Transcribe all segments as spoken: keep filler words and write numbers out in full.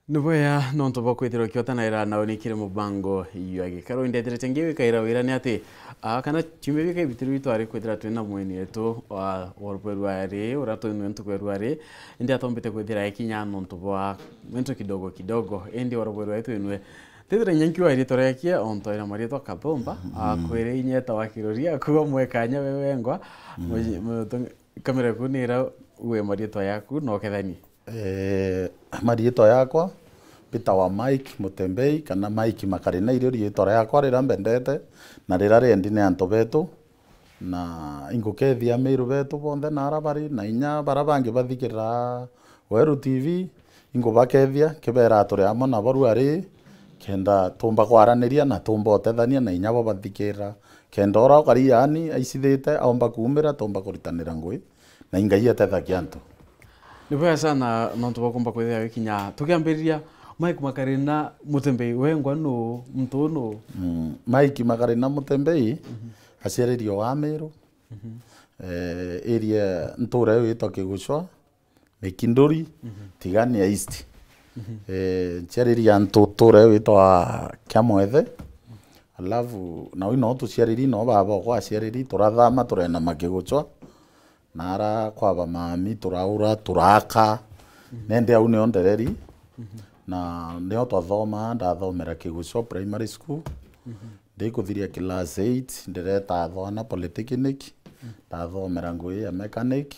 Ni bwega nontu bwa kwithirwa ukiotanaira na unikire mubango jwa gikaro. Indethirite ngiwikaira wira ni ati, aa, kana ciumia bika ibitirwe itwari kwithira twina mweni wetu wa, wa rubweru ari, uria twinwe ntuku ya rwari, indi atombite kwithira ekinya nontu bwa mintu kidogo kidogo, indi wa rubweru ari twinwe. Tithira inya nkiwa iri turekia, ontoira marietwa Kathumba, akwire inyeta wa kirori, akuwa mwekanya we wengwa, muji-, mutu-, kamera ku nira uwe marietwa yaku, no kethanie. Eh, marietwa yakwa mbitawa Mike Mutembei, kana Mike Makarina, irio rietwa riakwa riria mbendete, na riria riendi ni antu betu, na ingukethia Amiru betu bonthe na aria bari, na inya baria bangi bathikirira Weru T V, ingubakethia, kibeera turi amwe nabo ruari, kenda tumba kwaraniria na tumba utethania, na inya bo bathikirira, kenda uria ukari yaani aicithite aumba kuumira, tumba kuritanira ngugi. Na ingai atethagia antu. Ni bwega sana nontu bwa kumba kwithira wikinya. Tukiambiriria, Mike Makarina Mutembei, wengwa nu, muntu nu? Mm, Mike Makarina Mutembei, aciaririo wa Amiru. Eh, area ntura iyo itwa Kigucwa, Mikinduri, Tigania East. Eh, nciariria ntu-, ntura iyo itwa Kiamwethe. Alafu, nau ino tuciariri, no baba okwa aciariri, turathama, turenda Makigucwa. Nara kwa bamami, turaura, turaka. Nende au nio ndereri. Na nio twathoma, ndathomera Kigucwa Primary School. Ndikuthiria class eight, ndireta Thwana Polytechnic. Ndathomera ngugi ya mechanic.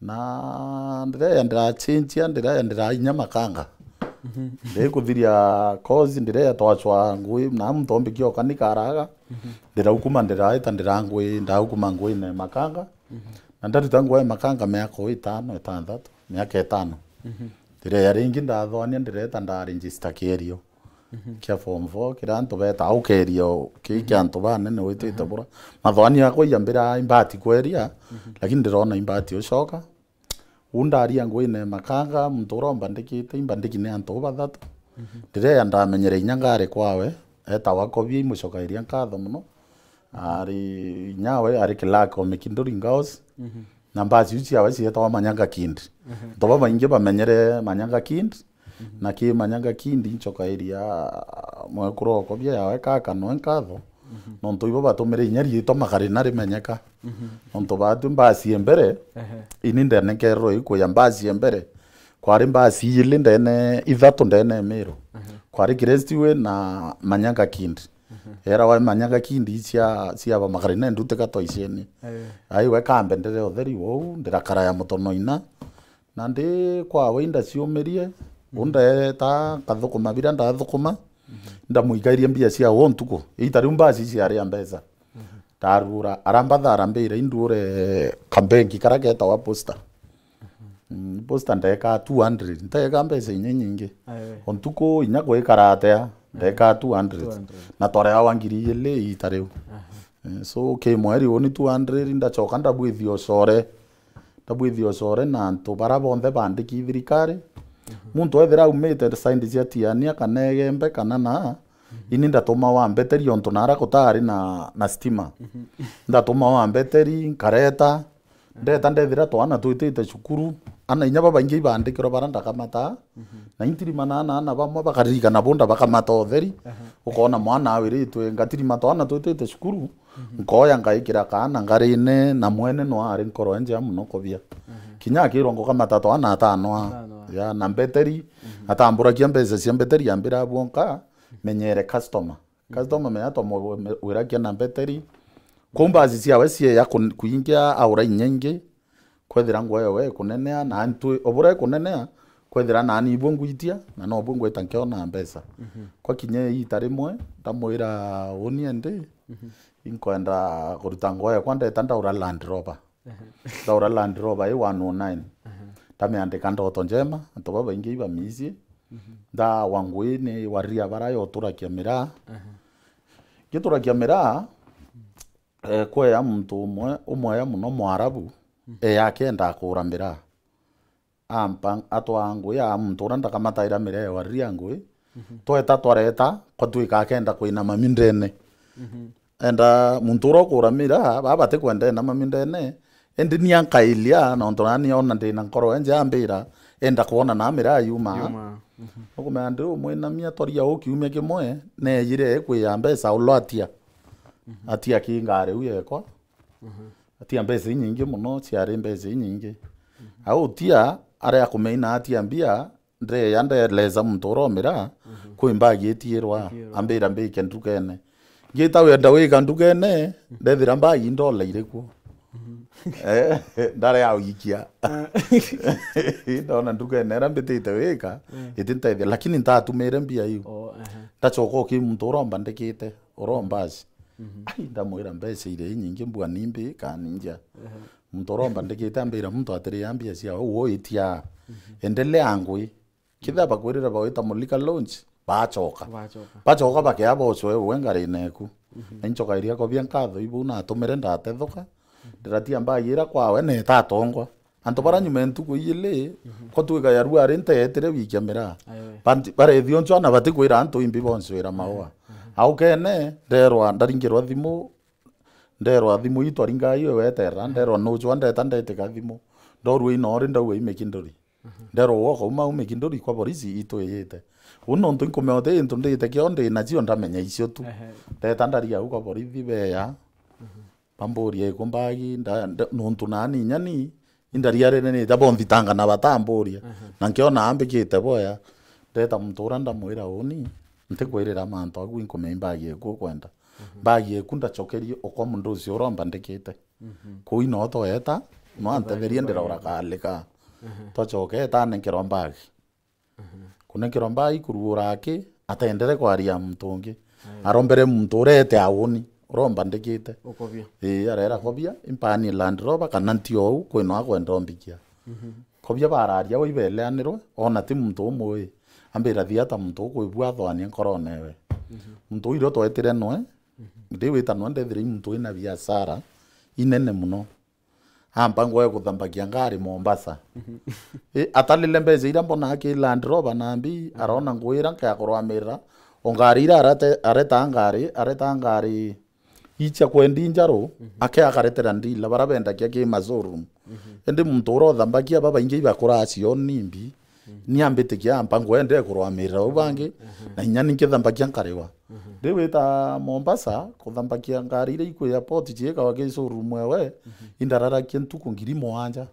Na ndireya ndirachinchia, ndireya ndira inya makanga. Ndikuthiria course, ndireya twachwa ngugi, na muntu ombikia ukanikaraga. Ndiraukuma, ndiraita, ndira ngugi, ndaukuma ngugi ne makanga. Na ndaruta ngugi ya makanga miaka o itano, itanthatu, miaka itano. Ndireya ringi ndathwania, ndireta ndaregister kierio kia form four, kiria antu betaga ukeria u-, ki-, kia antu banene witite bura. Mathwani yakwa iambira imbati kweria, lakini ndirona imbati ucoka. U ndaria nguine makanga, muntu uria umbandikite, imbandiki ni antu bathatu. Ndireya ndamenyere inya ngari kwawe, etawa Kobia, imucokairia nkatho mono. Ari inyawe, ari clerk o Mikinduri Ngaos. Na mbasi iu ciawe cietagwa Manyanga Kind. Antu babaingi bamenyere Manyanga Kind. Na ki Manyanga Kind ncokairia mwekuru okwa bia yawe kaka noe nkatho. Nontu ibo batumire inya riitwa Makarina rimenyeka. Nontu batwi mbasi e mbere, ini ndenekererwe ikuya mbasi e mbere. Kwari mbasi ili ndene, ithatu ndene Miru. Kwari Crestway na Manyanga Kind. Era wa Manyanga Kind cia, cia ba Makarina ndutika twaiceni. Ai we kambendere utheri wou, ndirakara ya mutonoina. Na ndi kwawe indaciumirie, undeta nkathukuma biria ndathukuma, ndamuikairie mbia cia wo ntuku. Ita riu mbasi ciari a mbeca. Ndarura, arambatha arambira induure kambengi karia ketawa Posta. Mm, Posta ndeka two hundred, nteka mbeca inya nyingi. O ntuku inya gwikara atia, ndeka two hundred. Na twareawa ngiri igiri ita riu. Eh, so, ki mweri uni two hundred, ndacoka ndabwithia ucore. Ndabwithia ucore na antu bara bonthe bandiki thirikari. Muntu ethira aumite side cia Tiania kana Egembe kana na, ini ndatuma wa mbeteri ontu nara gutari na, na stima. Ndatuma wa mbeteri, nkareta, ndeta ndethira twana twitite cukuru, ana inya babaingi ibandikirwe bara ndakamata, na intirima na ana, ana bamwe bakaririkana bunda bakamata utheri, ukona mwana awiritwe, ngatirima twana twitite cukuru, nkoya ngaikira kaana ngarine, na mwene no ari nkoro enjea mono kobia. Kinya akirwa ngukamata twana atano a, ya, na mbeteri, atamburakia mbeca cia mbeteri ambira bwonka, menyere customer. Customer menya twamwirakia na mbeteri. Kou mbasi ciawe cieya kun-, kuingia aura inya ingi, kwethira nguo yawe ikunenea, na ntwi, o bura ikunenea, kwethira nani ibuo ngwitia, na nobuo ngwita nkiona mbeca. Kwa kinya iita rimwe, ndamwira, uni endi, inkwenda kuruta nguo yakwa, ndeta ndaura Land Rover. Ndaura Land Rover i one oh nine. Ndamiandika ndoto njema, antu babaingi ibamiicie. Ndawa nguini wariria bara yoturakia miraa. Ngiturakia miraa, eh, kweya muntu umwe, umweya muno Mwarabu, eh, akenda akura miraa. Ampa, atwaa ngui ya muntu uria ndakamataira miraa ya wariria ngui. Tweta twareta, kwa twika akenda kwina mami ndene. Enda muntu uria ukura miraa, baba batikwenda ena mami ndene, indi ni ankailia, nontu nani ona ndina nkoro enje ambira, enda kwona na miraa yuma. Yuma. Mhm. Nukumenya ndi umwinamia twaria u kiumia kimwe, neejire ekwiya mbeca ulo atia. Mhm. Atia ki ngari u yekwa. Mhm. Atia mbeca inyingi mono, ciari mbeca inyingi. Mhm. Au tia, aria akumeina atia mbia, ndeya ndeleza muntu uromira, mhm, kwi mbagi itiirwa, itiirwa, ambira mbike ndukene. Ngita wenda wika ndukene, ndethira mbagi ndola iri kuo. Mhm. Eh, ndare ya uikia. Ah. Ndona ndukene ira mbitite wika, mm, iti ntethia, lakini ntatumire mbia iu. Oh, aha. Ndacoka uki muntu uromba ndikite, uromba aci. Mhm. Ai, ndamwira mbeca iri inyingi mbua nimbi kaninja. Aha. Muntu uromba ndikite ambira muntu atiri ya mbia cia u itia. Mhm. Endelea ngwi. Kethira bakwirira bagwita mulika launch, bacoka. Bacoka. Bacoka bakea bocwe uwe ngarine eku. Mhm. Na incoka iria kobia nkatho ibu natumire ndatethuka. Mhm. Ndiratia mbagi ira kwawe na itatongwa. Antu bara nyuma ya ntuku ijili, mhm, ko twika ya rua ari nteetire wiki ya miraa. Ayo. Banti-, barethio ncwa na batikwira antu imbi boncwira maua. Mhm. Au kene, nderwa, ndaringirwa thimu, nderwa thimu itwaringa iyo weterera, nderwa nucwa ndeta ndetika thimu. Ndorua inori ndauga imikinduri. Mhm. Nderwa uga ukauma umikinduri kwa borisi itwiyite. U nontu inkumea uti into ndite kio ndi nacio ndamenya icio tu. Ehe. Ndeta ndaria au kwa borithi beya. Mhm. Bamburia iku mbagi, nda-, nda-, nontu nani inya ni, indariarenenete bonthitanga na batamburia. Mhm. Na nkiona ambikite boya, ndeta muntu uria ndamwira uni, ntikwirira mantu agu inkumea imbagi iku ukwenda. Mhm. Mbagi eku ndacokerie ukwa mundu ucio uromba ndikite. Mhm. Kuu ino tweeta, no antetherie ndirora kalika. Mhm. Twacoke eta nenkerwa mbagi. Mhm. Kunenkerwa mbagi kuruura aki, atendere kwaria muntu ungi. Aye. Arombere muntu urete auni, uromba ndikite. Ukobia. Ii, arera kobia, impani Land Rover, kana nti ou, kwino akwenda ombikia. Mhm. Kobia bararia wi beleanirwe, ona ti muntu umwe wi. Ambira thiata muntu ukwibua athoania nkorone we. Mhm. Muntu uu irio twetire nwe, mhm, ndi witanwa ndethire i muntu wina biashara inene muno. Ampa ngwe kuthambakia ngari Mombasa. Mhm. I, atalile mbeca iria mbona aki Land Rover nambi, mhm, arona ngwira nkakorwamirira. O ngari iria arate-, areta ngari, areta ngari icia kwendi njaru, mhm, ake akaretera ndila, bara bendakia ki ma showroom. Mhm. Indi muntu uria uthambakia babaingi ibakura acio nimbi, mhm, ni ambitikia ampa ngwende kurwamirira u bangi, mhm, na inya ni nkithambakia nkariwa. Mhm. Ndi wita Mombasa, kuthambakia ngari iria iku airport ciikawa ki showroom ewe, mhm, indararakia ntuku ngiri mugwanja.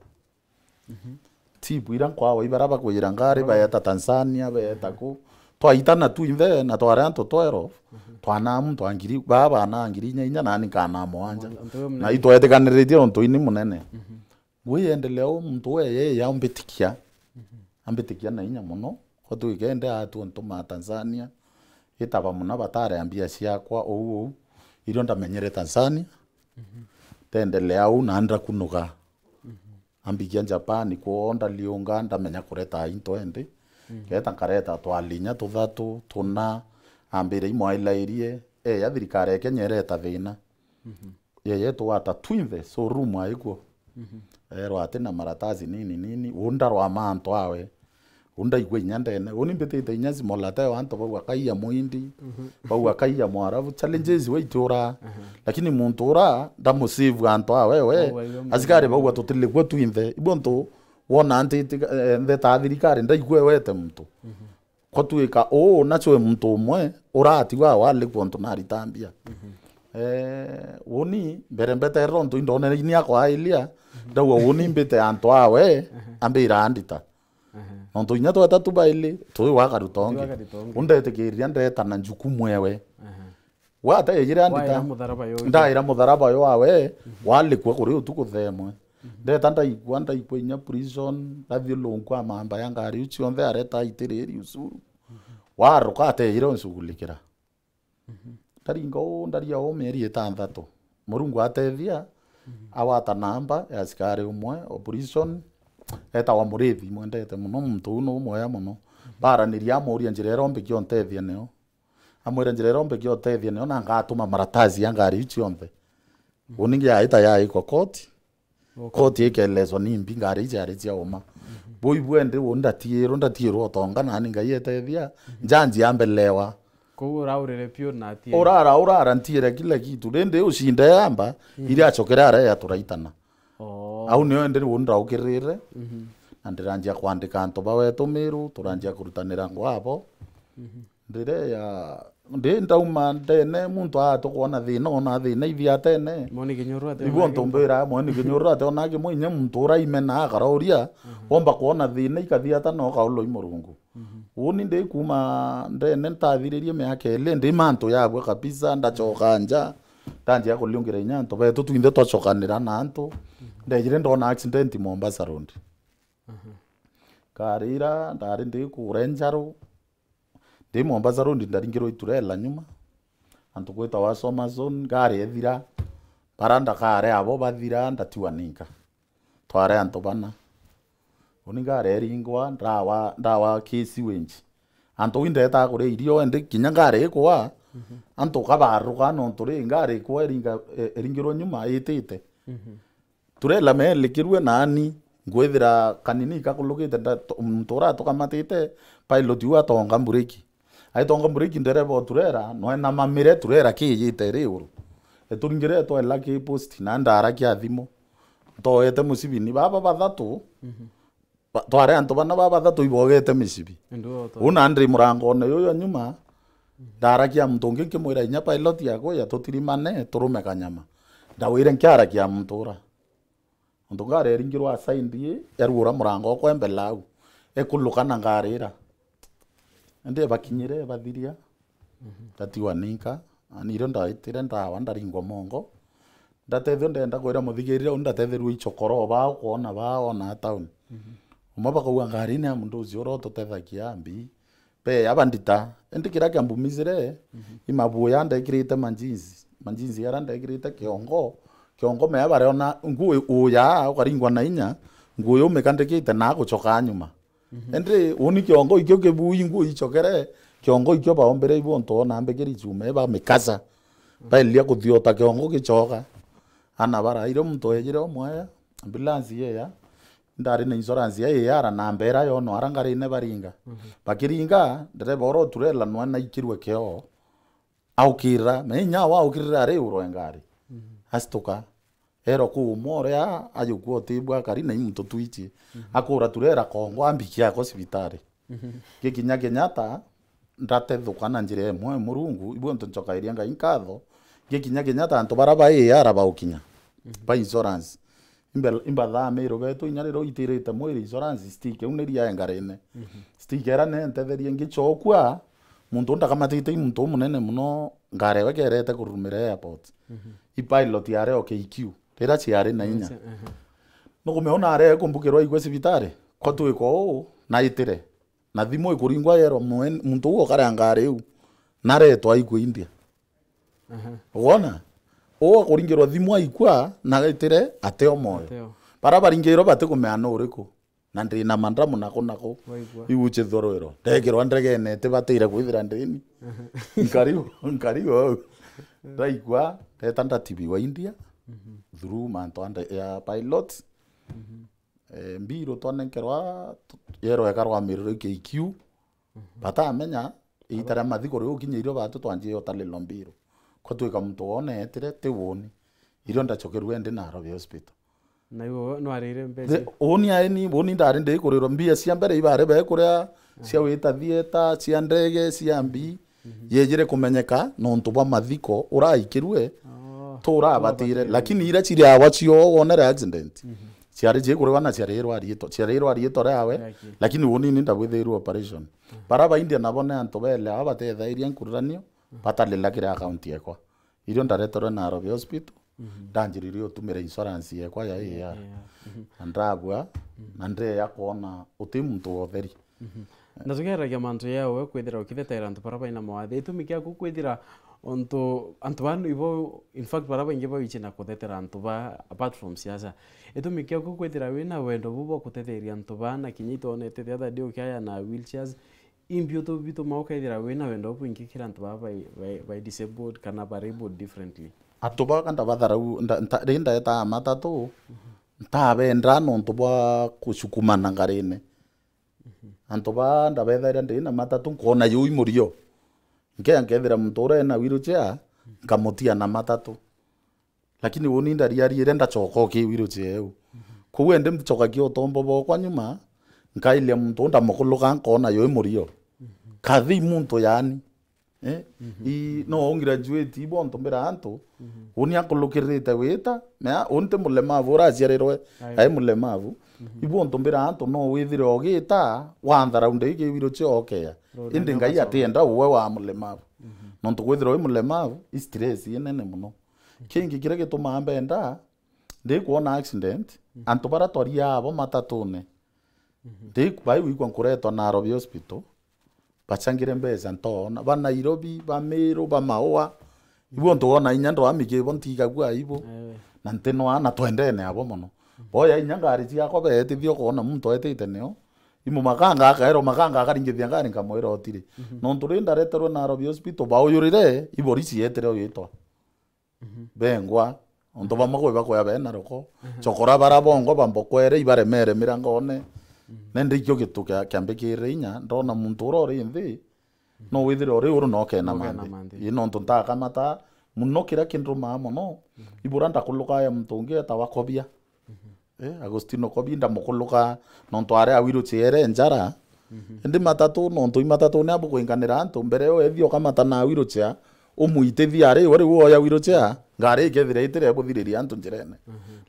Mhm. Tibu iria nkwawa ibara bakwira ngari, oh, baeta Tanzania, baeta, mhm, ku. Twaitana twinthe na twari antu twelve, mhm, twanaa muntu wa ngiri, baa banaa ngiri inya inya, nani nkanaa mugwanja. Mugwanja, antu we munene. Na itwetikaniritie untu ini munene. Mhm. Ngui endelea u muntu we yeye aumbitikia. Mhm. Ambitikia na inya muno. Ko twikende atu ntuma Tanzania. Itaba muna batare mbia ciakwa ou ou. Irio ndamenyere Tanzania. Mhm. Tendelea u na ndakunuga. Mhm. Ambikia Japan, kwoo ndaliunga, ndamenya kureta into endi. Mm. Ngeta nkareta twalinya tuthatu, tuna, ambire imwailairie, e, ya thirikari ya Kenya ireta thina. Mhm. Yeye twata twinthe, showroom aikwo. Mhm. Erwa ati na maratasi nini nini, u ndarwa mantu awe. U ndaigua inya ndene. Uni mbitite inya simolate wa antu bau akaiya muindi, mhm, bau akaiya mwarabu. Challenges we itura. Mhm. Lakini muntu ura ndamusivu antu awe we. Oh, asikari bau atutilikwe twinthe. Ibo ntu wona ntiti, eh, ntheta thirikari ndaigua ewete muntu. Mhm. Ko twika uu, nacio muntu umwe uratigwa walikwa untu naritambia. Mhm. Eh, uni mbere mbeterera untu indonere ini akwa ailia, mhm, ndauga uni mbite antu awe, mhm, ambira andita. Mhm. Nontu inya tweta tubaili, tui wakarutongi. Tui wakarutongi. Undetikiriria ndeta na njukumu ewe. Mhm. Wateejire andita. Waira mutharaba yo. Ndaira mutharaba yo awe, mhm, walikwa kuri utuku themwe. Mhm. Ndeta ndaikua, ndaikua inya prison, ndathiulunkua mamba ya ngari iu cionthe areta aitiriri ucuru. Mhm. Waruka ateejire uncugulikira. Mhm. Ndaringa uu, ndaria uu mieri itanthatu. Murungu atethia, mhm, awata namba ya asikari umwe o prison, etawa Murithi, mwendete muno, muntu uu nu mwega muno. Mhm. Baraniria amuria njira iria umbikia untethia nio. Amwira, njira iria umbikia utethia nio na ngatuma maratasi ya ngari iu cionthe. Mhm. Uni ngi yaita yaikwa koti. Okay. Koti ikelezwa ni mbi ngari iu ciari cia uma. Mhm. Bui bwendi u ndatiirwa, ndatiirwa utonga nani Ngai etethia. Mhm. Njanji ambelewa. Kou uraurire piu na atiere. Urara, urara ntiere kila kitu. Rindi ucinde yamba, mhm, iria acokere ara ya turaitana. Oh. Au nio indi riu ndaukirire. Mhm. Na ndiranjia kwandika antu ba wetu Miru, turanjia kurutanira ngwabo. Mhm. Ndire ya, ndi ndauma ndene, muntu aa tukwona thina, ona thina ithiatene. Moni Kinyuru ati Ibu ona ntu kintu. Mbira, moni Kinyuru ati ona kimwe, inya muntu uraimenaa akarauria, Mhm. womba kwona thina ikathiata no kaulwa i Murungu. Mhm. Uni ndi kuma ndene ntathiririe miaka ili, ndi mantu yabua kabisa, ndachoka nja, ndanjia kuliungira inya antu betu twinthe twachokanira na antu. Mhm. Ndejire ndona accident Mombasa Road. Mhm. Nkarira, ndari ndi kure Njaru, ndi Mombasa Road, ndaringirwa iturela nyuma. Antu gwitawa Soma Zone, ngari ethira, bara ndakare abo bathira, ndatiwa ninka. Tware antu bana. Uni ngari eringwa, ndawa, ndawa K C Wenji. Antu wi ndetaa kuria irio, indi kinya ngari ikwa, Mhm. antu kabaruka nontu ri ngari ikwa eringa-, e-, eringirwe nyuma itite. Mhm. Turela melikirue nani, ngwithira kanini kakulukite nda-, to-, muntu uria atukamatite, pilot u atonga mbureki. Aitonga mbureki, ndereba o turela, nwenamamire turela kiijite iri iguru. Eturingire etwela ki post, na ndarakia thimu. Ntoete mucibi, ni baba bathatu, Mhm. ba-, twari antu bana baba bathatu ibogete micibi. Ndio, to- Una ndi murangone yuyo nyuma, ndarakia muntu ungi nkimwira inya pilot yakuya tutirimane, turume kanyama. Ndawire nkiarakia muntu ura. Nontu ngari eringirwa aside ii, yaruura murango okwa embele au. Ekuluka na ngari ira. Indi ebakinyire, ebathiria. Mhm. Ndatiwa ninka. Ani irio ndaitire ndawa, ndaringwa mongo. Ndatethio ndenda kwira muthigirire uu, ndatetherua ichokoro baa ukwona baa ona town. Mhm. Umwe bakauga, "Ngari ni ya muntu ucio uria ututethagia mbi." Be, aba ndita. Indi kiria kiambumizire, Mhm. i mabuya ndekirite manjinzi. Manjinzi aria ndekirite kiongo. Kiongo mea bariona nguo uya, ukaringwa na inya, nguo yumikandikite na guchoka nyuma. Mhm. Indi uni kiongo ikio kibui nguo ichokere, kiongo ikio baombire ibu ontu ona mbikiri chuma, bamikasa. Baelia kuthiota kiongo gichoka. Ana bara, irio muntu ejire omwaya, ambulance yeya, ndari na insurance ya A R na mbera yono ara ngarine baringa. Mhm. Bakiringa, ndereba oro turela nwe naikirwe kio. Aukira, na inya wa aukirire ari urwe ngari. Mhm. Asituka. Ero kuuma uria, ayukua utibwa akari na imuntu twichi. Mhm. Akura turela kongo ambiki ako cibitari. Mhm. Gikinya Kenyatta, ndatethuka na njira imwe Murungu, ibu ntu nchokairia Ngai nkatho. Gikinya Kenyatta antu bara ba A R baukinya, Mhm. ba insurance. Imbe-, imbathaa Miru betu inya riria uitirite mwiri insurance, stick iu ni ria engarine. Mhm. Stick era nentetherie ngichokua, muntu ndakamatite i muntu umunene muno, ngari ewe kerete kurumira airport. Mhm. I pilot yari o K Q, riria ciari na inya. Yes, aha. Nukumeona are kumbukirwa ikwe cibitari, kwa twiko uu, naitire. Na thimu ikuringwa yero mwen-, muntu uu ukarea ngari iu, naretwa aikue India. Aha. Wona? Uu akuringirwa thimu aikua, na aitire ateo moyo. Ateo. Bara baringirwe batikumea nu uriku. Na ndi na mandramu naku naku. Waigua. Iu uchithorwero. Ndekirwa ndegene, itibatire kwithira ndini. Aha. Nkariu, nkariu au. Ndaikua, ndeta ndatibiwa India. Mhm. Through mantu ande ya pilot. Mhm. Eh, mbiru twanenkerwa, tu-, yero eka rwa Miru K Q. Mhm. Batamenya, iita ria mathiko riu ukinya irio batu twanjie utalilwa mbiru. Kwa twika muntu wone etire, ti woni. Irio ndachokerue ndi Nairobi Hospital. Na iwe nwarire mbeca? Woni ari ni, woni ndari ndi kurirwa mbia cia mbere ibare be kuria, cia wita theater, cia ndege, cia mbi. Mhm. Yejire kumenyeka nontu bwa mathiko uraikirue, oh, turabatire, lakini iria ciri awa cio wonere accident, mhm, ciari cikurigwa na ciarirwa riitwa, ciarirwa riitwa riawe, lakini woni ni ndabwithirwe operation. Mhm. Bara ba India nabo ni antu bele aba batethairie nkururanio, mhm, batalila kiri account yekwa. Irio ndareterwe Nairobi Hospital, mhm, ndanjiririe utumira insurance yekwa ya A R. Ya A R. Mhm. Na ndabua, mhm, na ndeya kwona uti muntu wa utheri. Mhm. Na tukeragia mantu yawe kwithira ukithetera antu bara baina mawathe. Itumi kiaku kwithira untu, antu baa ibo, in fact, bara baingi bawichi na kuthetera antu ba, apart from siasa. Itumi kiaku kwithira wina wendo bu bwa kutetheria antu baa, na kinya itwonete the other day ukiaya na wheelchairs, imbi utu bituma ukethira wina wendo bwingi kiri antu baa bai, bai, bai disabled kana bai abled differently? Antu baa ka ndabatharau, nda-, nta-, ri ndaetaa matatu, mhm, ntabenda nontu bwa kucukumana ngarine. Mhm. Antu baa ndabethaira ndi na matatu, nkona yui murio. Nkea nkethira muntu uria ena wheelchair, nkamutia na matatu. Lakini uni ndariarire ndachoka uki wheelchair eu. Mhm. Kwou ende mchokagia utombo bokwa nyuma, Nkailia muntu uu ndamukuluka nkoona yui murio. Kathi muntu yani. Eh? I, no ungraduate, ibo ntu mbira antu. Uni akulukirite wita, mea, uni ti mulemavu uraciarirwe, ai mulemavu. Ibo ntu mbira antu no withire ugita, wanthara unde iki wiro ciokea. Indi Ngai atienda uwe wa mulemavu. Nontu kwithirwa wi mulemavu, i stress inene muno. Kingi kiria gitumaa mbenda, ndikwona accident, antu bara twaria abo matatune. Ndi bai wigua nkuretwa Nairobi Hospital, bachangire mbeca ntoona. Ba Nairobi, ba Meru, ba Maua. Ibo ntu wona inya ndwami kibo ntigagua aibu. Na ntinwa na twendene abo mono. Boya inya ngari ciakwa beetithia ukoona muntu etite nio. Imu makanga akaerwa makanga akaringithia ngari nkamwira otiri. Nontu ri ndareterwe Nairobi Hospital, bauyurire, ibori cietire uyitwa. Bengwa, ontu bamwe kwi bakwea bena roko. Chokora bara bongwa bambokwere, ibaremere mirangone. Nende ikio gitu kia, kiambikirire inya, ndona muntu ura uri nthi, no withire uri uru no kena manthi. Ii, nontu ntakamata muno, kiria kindumaa mono, ibura ndakuluka ya muntu ungi etawa Kobia. Eh, Agostino Kobia ndamukuluka, nontu ari a wheelchair njara. Indi matatu, nontu i matatu ni abukwinganira antu, mbere yo ethia ukamata na wheelchair, umwitithia ari we riu oya wheelchair, ngari ikethira itire buthiriria antu njirene.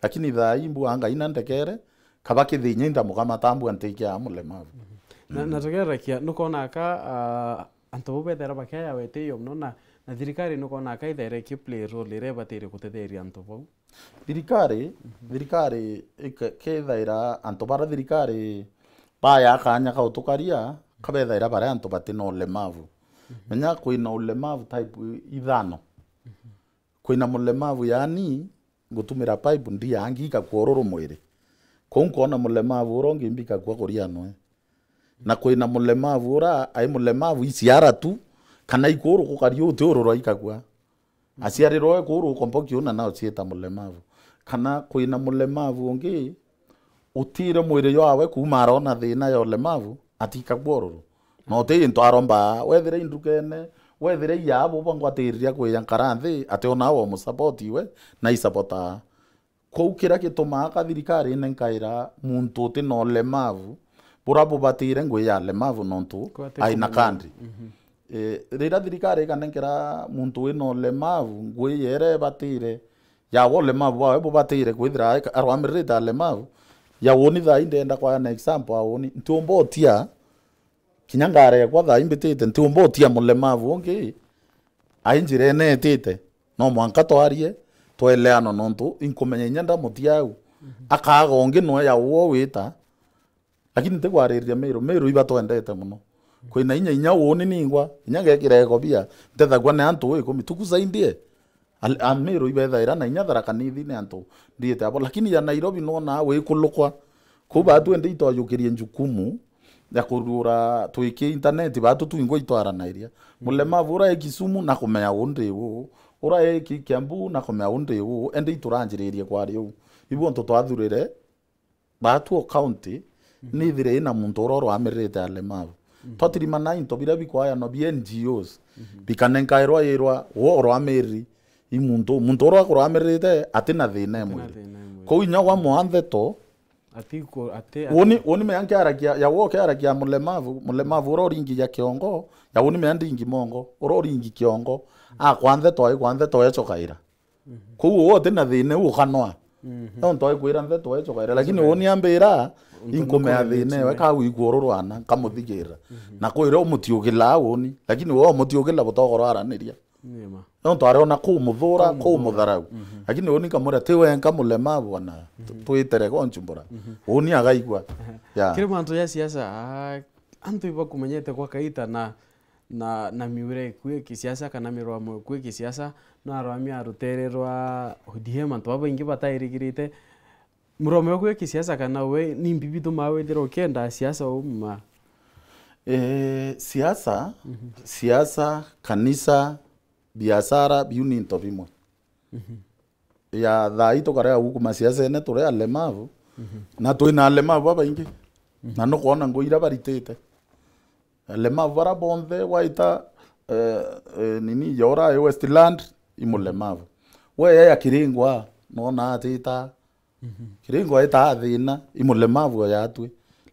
Lakini thaa ii mbua Ngai na ndekere, kaba kithinya indamukamata mbua ntikia mulemavu. Na, na tugerekia, nukwona ka, ah, antu bau bethaira bakiaya wetio mono na, na thirikari nukwona ka ithaira iki play role iria ibatire gutetheria antu bau? Thirikari, thirikari ike-, kethaira antu bara thirikari baya kanya ka utukaria, kabethaira baria antu batina ulemavu. Menya kwina ulemavu type ithano. Kwina mulemavu, yani, ngutumira pipe ndiangi ikakua ururu mwiri. Kou nkona mulemavu ura ungi mbikakua kuria nwe. Na kwina mulemavu ura ai mulemavu iciara tu, kana ikuru kukaria uti ururu aikakua. Aciarirwe kuru ukomboki una nao cieta mulemavu. Kana kwina mulemavu ungi utire mwiri jwawe kuuma arona thina ya ulemavu, atikagua ururu. Na uti into aromba, wethire indukene, wethire iabo bangwatiriria kwija nkara nthi, ati ona we umusupport iwe, na isupportaa. Kou kiria gitumaa ka thirikarine nkaira muntu uti na ulemavu, bura bubatire ngui ya alemavu nontu aina kandi. Eh, riria thirikari ikanenkera muntu wina ulemavu ngui yeria ibatire, ya we ulemavu bwawe bubatire kwithira aika-, arwamiririte alemavu, ya uni thaa ii ndenda kwa an example, a uni, ntiumba utia, kinya ngari yakwa thaa ii mbitite, ntiumba utia mulemavu ungi ai njirene itite. No mwanka twarie, tweleanwa nontu inkumenya inya ndamutia au. Akaaga ungi nwe ya uo wita. Lakini ntikwariria Miru, Miru ibatwendete mono. Kwina inya, inya uuni ningwa, inya ngekira ikobia, ntethagua ni antu ikumi, tukusaidie. Al-, a Miru ibethaira na inya Tharaka Nithi ni antu ndiite abo. Lakini ya Nairobi nwona wikulukwa. Kou batu ende itwajukirie njukumu ya kurura twiki internet, batu twingwa itwaranairia. Mulemavu ura e Kisumu na kumenya uu ndi uu, ura e Ki-, Kiambu na kumenya uu ndi uu, ende ituranjiririe kwari uu. Ibu antu twathurire, batu o county, nithire ina muntu ura urwamiririte alemavu. Twatirimana into biria bikwayanwa bi N G Os, bikanenkairwa irwa wo urwamiriri i muntu, muntu ura urwamiririte atina thina e mwiri. Kou inya wa mwantheto, ati ku-, ati, ati woni, woni mea nkiarakia, ya wo kiarakia mulemavu, mulemavu ura uringigia kiongo, ya woni mea ndingi mongo, ura uringi kiongo, akwa ntheto, aikwa ntheto echokaira. Kou uwe uti na thina iu ukanwa. Nontu aikwira ntheto echokaira, lakini uni ambira inkumea thina iwe kagwikua ururu ana, nkamuthigirira. Na kwira umutiugila uni, lakini we umutiugila butogoro araniria. Nontu ariona kumuthura, kumutharau. Lakini uni nkamwira, ti wenka mulemavu bwana, tu-, twitere gonchumbura. Uni agaigua. Yeah. Kiri mantu ya siasa, ah, antu ibakumenyete gwa kaita na na, na miura iku ya kisiasa kana mirwamo iku ya kisiasa, no arwami a rutere rwa O D M, antu babaingi batairigirite. Murwamo uku ya kisiasa kana we ni mbi bitumaa withira ukienda siasa uma? Eh, siasa, siasa, kanisa, biashara, biu ni into bimwe. Ya thaa ii tukarega gukuma siasene turi alemavu, na twina alemavu babaingi. Na nukwona ngui iria baritite. Alemavu bara bonthe waita, eh, eh, nini, yora e Westland, i mulemavu. We ya Kiringwa, nona atita. Kiringwa ita thina, i mulemavu o yatwi.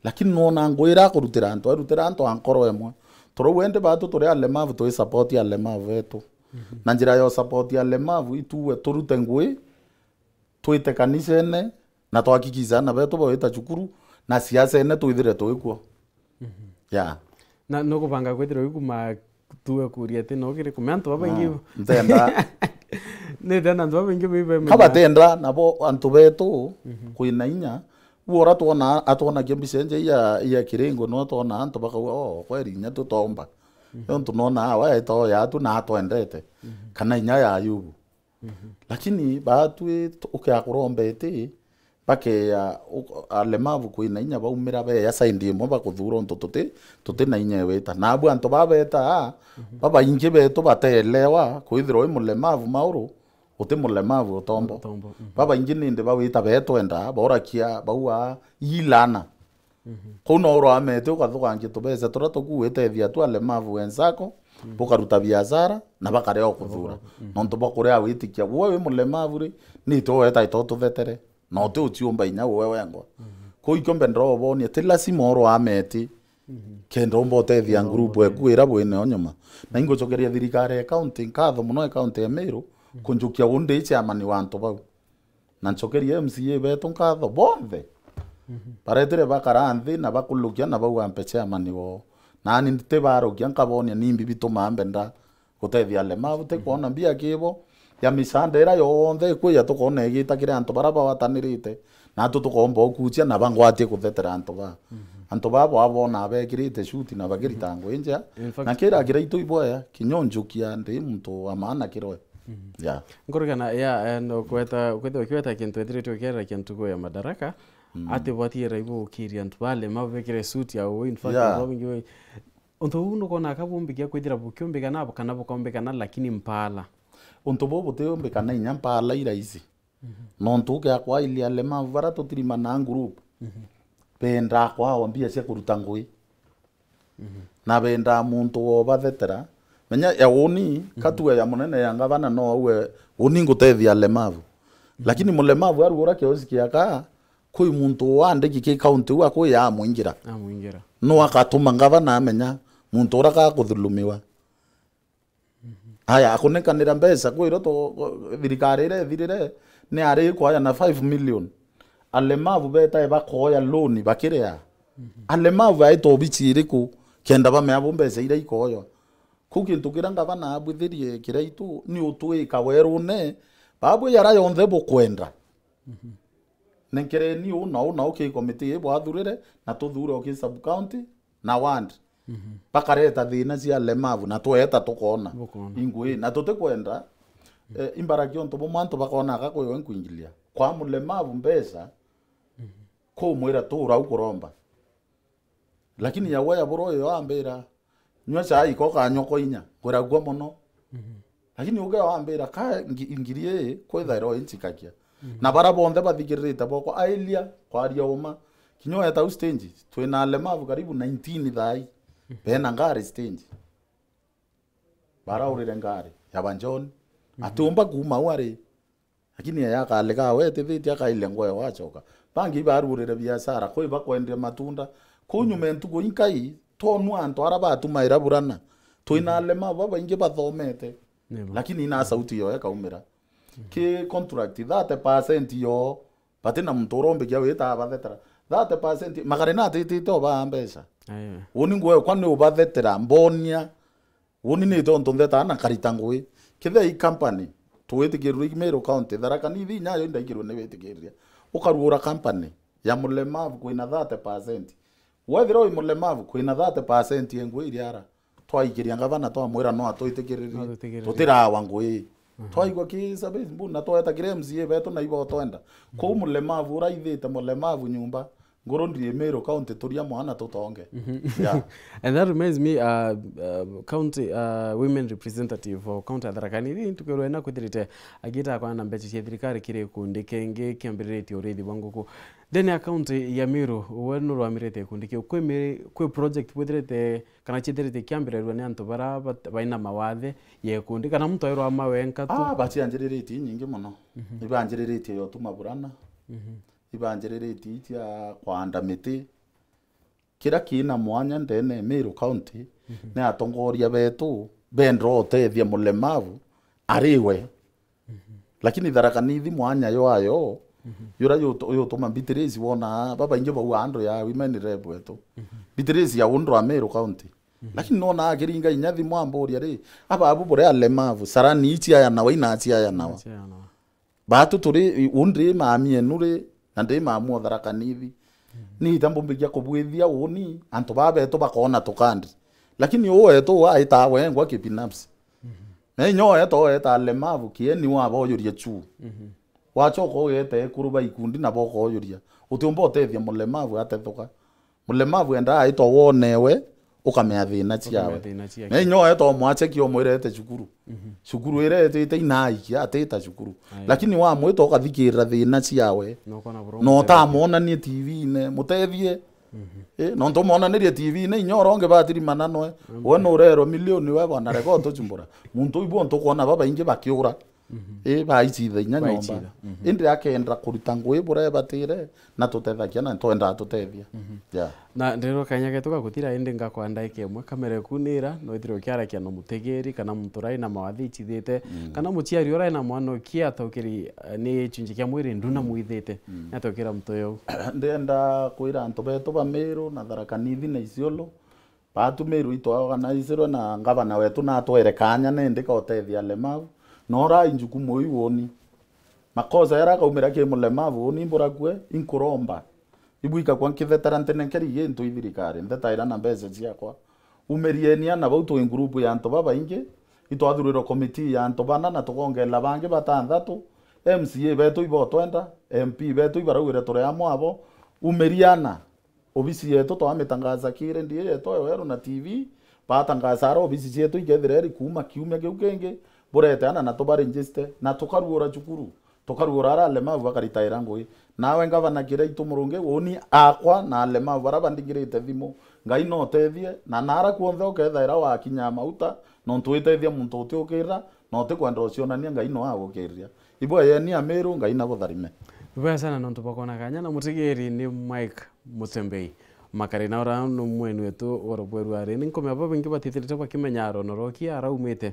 Lakini nona ngui iria akurutira antu, arutira antu a nkoro emwe. Turauga indi batu turi alemavu, twi support alemavu betu. Na njira ya support alemavu, ituwe turute ngui, twite kanisene, na twakikisha ana betu bawita cukuru, na siasene twithire twikuo. Ya. Na nukubanga kwithirwa wikuma tue kuria ati no kiri kumea antu babaingi. Ah, ntenda. Nitenda antu babaingi bibe. Kabatenda nabo antu betu kwina inya. Uo ura twona, atwonagia mbica inje ya, ya kiringo, no twona antu bakauga, "Oh, kweri inya tutomba." Nontu nona awa eto yatu na atwendete. Kana inya ya Ayubu. Lakini batwi tu-, ukea kuromba iti, bakeya u-, alemavu kwina inya baumira beya side imwe bakuthura untu tuti, tuti na inya ewita. Nabu antu babeta, babaingi betu batelewa kwithirwa wi mulemavu mauru, uti mulemavu utombo. Utombo, mhm. Babaingi nindi bawita betwenda, borakia, baua, ilana. Kuu no urwamete ukathukangia tubeca turia tukuwitethia tu alemavu wenzako, bukaruta biashara, na bakarea o kuthura. Nontu bwa kuria witikia. Gwe wi mulemavu ri, ni itwe wetaita ututhetere. Na uti uciumba inya gwe wengwa. Kuu ikio mbendera ubonia, ti lazima urwameti. Kenda umba utethia group eku ira bwineo nyuma. Na ingucokeria thirikari ya county nkatho muno, ya county ya Meru, kunjukia undi chairman wa antu bau. Na ncokerie M C A betu nkatho bonthe. Baretire bakara nthi na bakulukia na bauga mpe chairman woo. Nani ntibarukia nkabonia nimbi bitumaa mbenda gutethia alemavu, ti kwona mbia kibo ya misanda ira yonthe ikwija tukona igita kiri antu bara bawatanirite. Natu tukomba ukucia na bangwatie kuthetera antu ba. Antu babo abona bekirite shuti na bakirita ngui njea. In fact, na kira kira itu iboya, kinya unjukia ndi muntu wa maana kiroe. Ya. Nkurigana, ya, eh, no kweta, kweta, kweta kintu ethirite ukierera kintu kwa ya Madaraka, ati bwati era ibo ukiria antu bale, mabekire suit ya uu, in fact, ya, antu babingi we-, untu buu nukona ka bumbika kwithira bukiumbikana, kana bukombikana, lakini mpala. Untu buu butiumbikana inya mpala i rahisi. Nontu ukia kwailia alemavu bara tutirimanaa group, bendaa kwawa mbia cia kuruta ngui. Na bendaa muntu wobathetera. Menya ya uni, katua ya munene ya ngavana no auwe, uni ngutethia alemavu. Lakini mulemavu arugura kioski aka, kwi muntu wandiki ki county u akwiya amwingira. Amwingira. No akatuma ngavana amenya muntu ura kakuthulumiwa. Aya, akunekanira mbeca, kwiro to, thirikari iria ithirire, ni ari ikwaya na five million. Alemavu betae bakoya loan bakiria. Alemavu aita obici iriku, kenda bamea bo mbeca iria ikoywa. Kuu kintu kiria ngavana abwithirie Kiraitu, ni utwika werune, babu yara yonthe bukwenda. Nenkereni uu na uu na uu ki committee ii bwathurire, na tuthure o ki sub county na ward. Bakareta thina cia alemavu, na tweta tukona. Bukona. Ingui, na tutikwenda, eh, imbaragia untu bumwe antu bakona aka kwiwe nkwingilia. Kwa mulemavu mbeca, kumwira tura u kuromba. Lakini yawe ya buro yo ambira, "Nyua chai ko kanyoko inya, ngwiragua mono." Lakini uge wambira, "Ka ngi-, ngiri ii, kwithaira o inchikakia." Na bara bonthe bathikiririte boko, ailia, kwaria uma. Kinya weta u stage, twina alemavu karibu nineteen thai. Bena ngari stage. Baraurire ngari, ya ba John. Atiumba kuuma u ari. Lakini yaya akale ka wetithitie akaile ngoe wachoka. Bangi ibarurire biashara, kwi bakwendia matunda. Kuu nyuma ya ntuku inkai, twonua antu ara batumaira burana. Twina alemavu babaingi bathomete. Lakini ina sauti yo ekaumira. Ki contract, thirty percent yo, bati na muntu urombikia wita abathetera. Thirty percent, magari natitite obaa mbeca. Uni ngwe kwa ni ubathetera, mbonia. Uni ni tontu nthetaa na nkarita ngui. Kethira i company, twitikirwe i Meru County, Tharaka Nithi inya yo indaikirwe ni witikiriria. Ukarugura company ya mulemavu kwina thirty percent. Wethira wi mulemavu, kwina thirty percent ya ngui iria ara. Twaikiria ngavana twamwira no atwitikiririe. No atwitikiririe. Tutirawa ngui. Twaigua ki Sabbath Mbuna tweta kiri M C A betu na ibo twenda. Kuu mulemavu uraithite mulemavu nyumba. Nguru ndiri Meru County, turia mwana tutonge. Yeah. And that reminds me, uh, uh, county, uh, women representative for county ya Tharaka Nithi, ntukirwe na kwithirite agita akwana na mbeca cia thirikari kiri gikundi kingi kiambiritie urithi bwa nguku. Ndene ya county ya Meru, we nurwamirite gikundi kiu. Kwi mi-, kwi project bwithirite kana ciithirite kiambirerua ni antu bara bat-, baina mawathe ya gikundi, kana muntu airwama wenka tu? Ah, bacianjiriritie inyingi mono. Ibanjiriritie yo tuma burana. Ibanjiriritie icia kwanda miti. Kiria kina mwanya ndene Meru County, mhm, ni atongoria betu benda utethia mulemavu ari we. Mhm. Lakini Tharaka Nithi mwanya ywayo, mhm, yura yutu-, yutuma Beatrice wona babaingi bau andu ya women rep wetu. Mhm. Beatrice ya undu wa Meru County. Mhm. Lakini nona akiringa inya thimu amburia ri, ababu bure alemavu, sarani ici aya nawa, ina aci aya nawa. Aci aya nawa. Batu turi, u ndi mami enu ri, na ndi mamu o Tharaka Nithi. Mhm. Ni ita mbumbikia kubwithia uni, antu baa betu bakona tukandi. Lakini uu wetu aita wengwa kibinafsi. Mhm. Na inya uu wetu oweta alemavu, kieni waboyuria chu. Mhm. Wachoka ugeta ekuru ba ikundi nabo ukoyuria. Utiumba utethia mulemavu atethuka. Mulemavu endaa aitwa wonewe, ukamea thina ciawe. Ukamea thina ciake. Na inya oetwa umwacheki umwirete cukuru. Mhm. Cukuru iretite inaikia, atita cukuru. Aye. Lakini wamwita ukathikirira thina ciawe. Na ukona buru na muteithia. Utamwonanie T V-ine, mutethie. Mhm. Eh, nontu umwonanirie T V-ine, inya uronge batiri mananoe. Mhm. We nurerwa milioni we bwana, rega utuchumbura. Muntu ibu ntukwona babaingi bakiura. Mhm. Ii, baicitha inya nyomba. Baicitha. Mhm. Indi akenda kuruta ngui buria ebatire, na tutethagia, na twendaa tutethia. Mhm. Yeah. Na ndirwa kanya getu gagutira, indi ngakwa ndaika imwe, kamera iku nira, no ithire ukiarakia na mutegeri, kana muntu urai na mawathi icithite, mm, kana muciari urai na mwana ukia ataukiri, eh, ni chunji kia mwiri nduna, mm, mwithite. Mm. Ni ataukira muntu uyu. Ndienda kwira antu betu ba Meru na Tharaka Nithi na Isiolo, batumirwe itwaorganizirwe na ngavana wetu natwere kanya nindi ka utethia alemau. Na urai njukumu iu uni. Makosa jaria akaumira ki mulemavu uni mburakue, inkuromba. Ibu ikakwa nkithetera ntenenkeri gintu i thirikari, nthetaira na mbeca ciakwa. Umirieni ana bau twi ngurupu ya antu babaingi, itwathurirwe komitii ya antu bana na tukongela bangi batanthatu, M C A betu ibotwenda, M P betu ibarauire turi amwe abo, umiriana. Obisi yetu twamitangasa ki redio yetu ya Weru na T V, batangasaga obisi cietu ikethira iri kuuma kiumia kiu kingi, bureteana na tubaregister, na tukaruura cukuru, tukaruura ara alemau bakaritaira ngui. Nawe ngavana Kiraitu Murungi, uni akwa na alemau bara bandigirite thimu, Ngai no utethie, na nara kuonthe ukethaira wakinya mauta, nontu witethia muntu utiukirira, na utikwenda ucionania, Ngai no agukiriria. Ibweyeni Amiru, Ngai nabutharime. Ibwega sana nontu bwa kwona kanya, na mutegeri ni Mike Mutembei. Makari na ura ni mwenu wetu oro bweru ari. Ni nkumea babaingi batithirite bakimenya arono roki araumite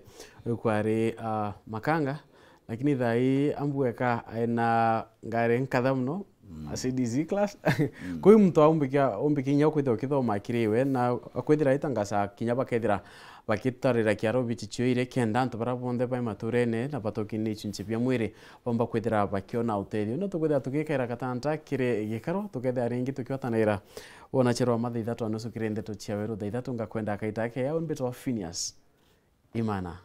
kwari, ah, Makanga, lakini thaa ii ambweka aina ngari nkatha muno, mm, a C D C class. Mm. Kwi muntu aumbikia, umbikia inya kwithirwa ukithoma akiriwe, na akwithira aitangasa kinya bakethira bagitarira kiaro bichi cio iri kenda antu bara bonthe bai maturene na batoki ni icunci bia mwiri bomba kwithira bakiona utethio. No tukwithira tugikaira gatanta kiri gikaro, tukethira ringi tukiwatanira wona cherwa mathaa ithatu na nusu kiri ndeto cia weru thaa ithatu. Ngakwenda akaita ake yao mbitwa Phineas Imana.